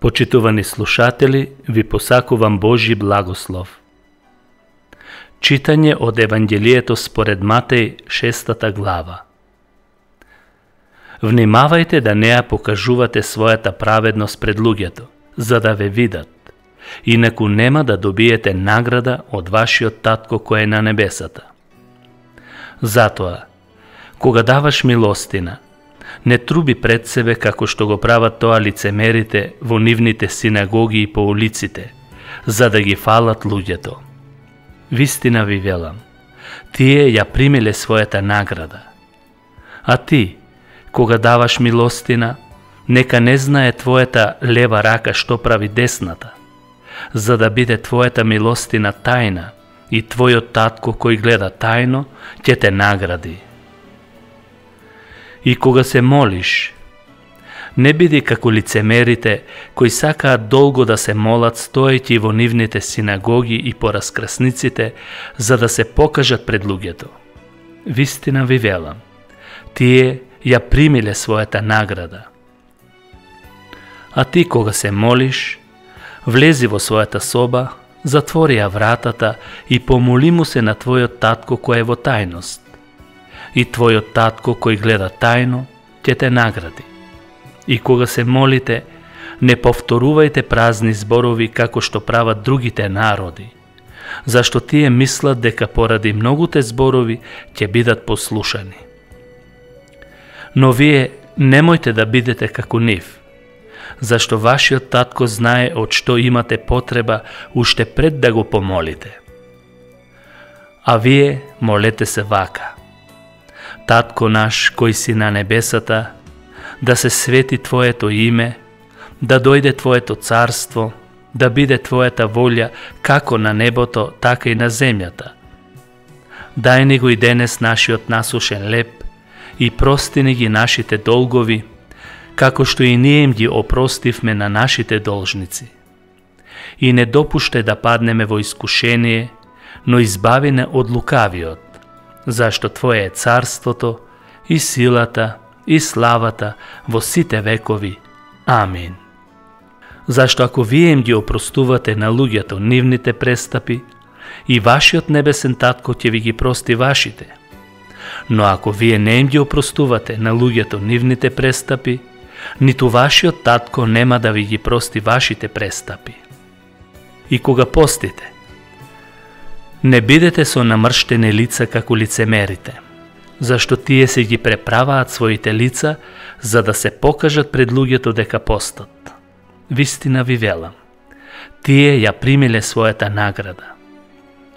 Почитувани слушатели, ви посакувам Божји благослов. Читање од Евангелието според Матеј, 6 глава. Внимавајте да не ја покажувате својата праведност пред луѓето, за да ве видат, инаку нема да добиете награда од вашиот татко кој е на небесата. Затоа, кога даваш милостина, не труби пред себе како што го прават тоа лицемерите во нивните синагоги и по улиците, за да ги фалат луѓето. Вистина ви велам, тие ја примиле својата награда. А ти, кога даваш милостина, нека не знае твојата лева рака што прави десната, за да биде твојата милостина тајна и твојот татко кој гледа тајно ќе те награди. И кога се молиш, не биди како лицемерите кои сакаат долго да се молат стоејќи во нивните синагоги и по раскрсниците, за да се покажат пред луѓето. Вистина ви велам, тие ја примиле својата награда. А ти кога се молиш, влези во својата соба, затвори ја вратата и помоли му се на твојот татко кој е во тајност. И твојот татко кој гледа тајно ќе те награди. И кога се молите, не повторувајте празни зборови како што прават другите народи, зашто тие мислат дека поради многуте зборови ќе бидат послушани. Но вие немојте да бидете како нив, зашто вашиот татко знае од што имате потреба уште пред да го помолите. А вие молете се вака: Татко наш кој си на небесата, да се свети Твоето име, да дојде Твоето царство, да биде Твојата волја како на небото, така и на земјата. Дај ни го и денес нашиот насушен леб и прости ни ги нашите долгови, како што и ние им ги опростивме на нашите должници. И не допуштај да паднеме во искушение, но избави не од лукавиот, зашто Твое е царството и силата и славата во сите векови. Амин. Зашто ако вие им ги опростувате на луѓето нивните престапи, и вашиот небесен татко ќе ви ги прости вашите. Но ако вие не им ги опростувате на луѓето нивните престапи, ниту вашиот татко нема да ви ги прости вашите престапи. И кога постите, не бидете со намрштени лица како лицемерите, зашто тие се ги преправаат своите лица за да се покажат пред луѓето дека постат. Вистина ви велам, тие ја примиле својата награда.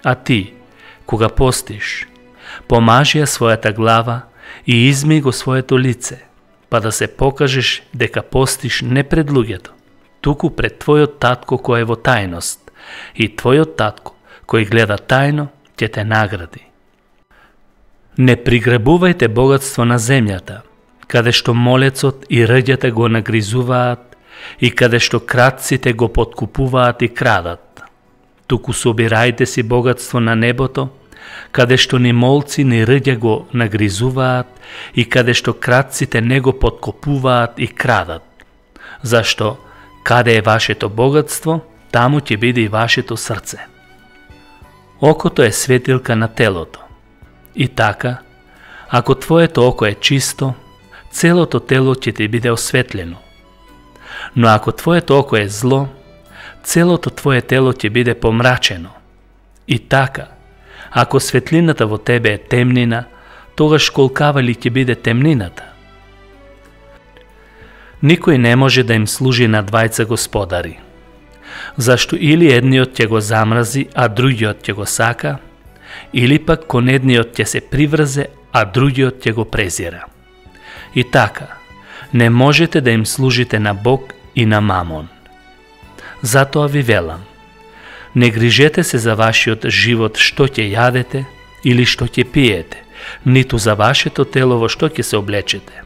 А ти, кога постиш, помажи ја својата глава и изми го своето лице, па да се покажеш дека постиш не пред луѓето, туку пред твојот татко кој е во тајност, и твојот татко кој гледа тајно ќе те награди. Не приграбувајте богатство на земјата, каде што молецот и рѓата го нагризуваат и каде што кратците го подкупуваат и крадат. Туку собирајте си богатство на небото, каде што ни молци ни рѓа го нагризуваат и каде што кратците не го подкупуваат и крадат. Зашто, каде е вашето богатство, таму ќе биде и вашето срце. Окото е светилка на телото. И така, ако твоето око е чисто, целото тело ќе ти биде осветлено. Но ако твоето око е зло, целото твое тело ќе биде помрачено. И така, ако светлината во тебе е темнина, тогаш колкава ли ќе биде темнината? Никој не може да им служи на двајца господари, зашто или едниот ќе го замрази, а другиот ќе го сака, или пак кон едниот ќе се приврзе, а другиот ќе го презира. И така, не можете да им служите на Бог и на Мамон. Затоа ви велам, не грижете се за вашиот живот што ќе јадете или што ќе пиете, ниту за вашето тело во што ќе се облечете.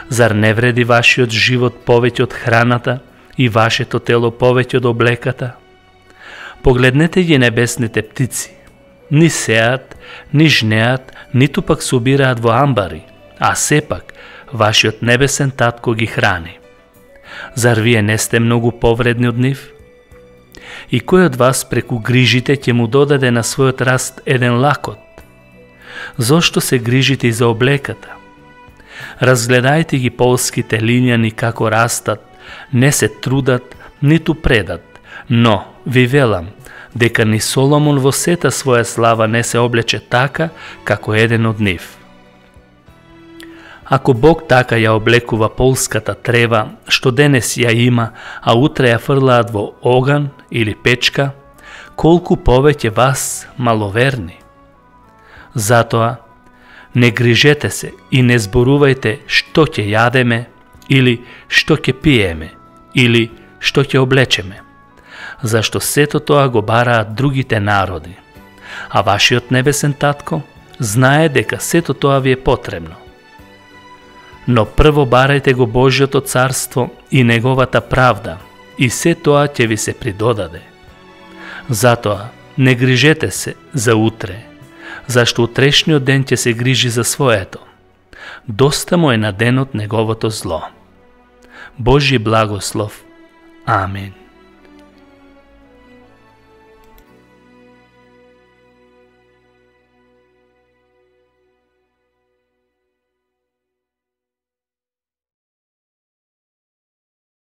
Зар не вреди вашиот живот повеќе од храната и вашето тело повеќе од облеката? Погледнете ги небесните птици. Ни сеат, ни жнеат, ниту пак собираат во амбари, а сепак вашиот небесен татко ги храни. Зар вие не сте многу повредни од нив? И кој од вас преку грижите ќе му додаде на својот раст еден лакот? Зошто се грижите и за облеката? Разгледајте ги полските лињани како растат, не се трудат, ниту предат, но ви велам дека ни Соломон во сета своја слава не се облече така како еден од нив. Ако Бог така ја облекува полската трева, што денес ја има, а утре ја фрлаат во оган или печка, колку повеќе вас, маловерни. Затоа, не грижете се и не зборувајте што ќе јадеме, или што ќе пиеме, или што ќе облечеме, зашто сето тоа го бараат другите народи, а вашиот небесен татко знае дека сето тоа ви е потребно. Но прво барајте го Божјото царство и неговата правда, и се тоа ќе ви се придодаде. Затоа, не грижете се за утре, зашто утрешниот ден ќе се грижи за своето. Доста му е на денот неговото зло. Божји благослов. Амин.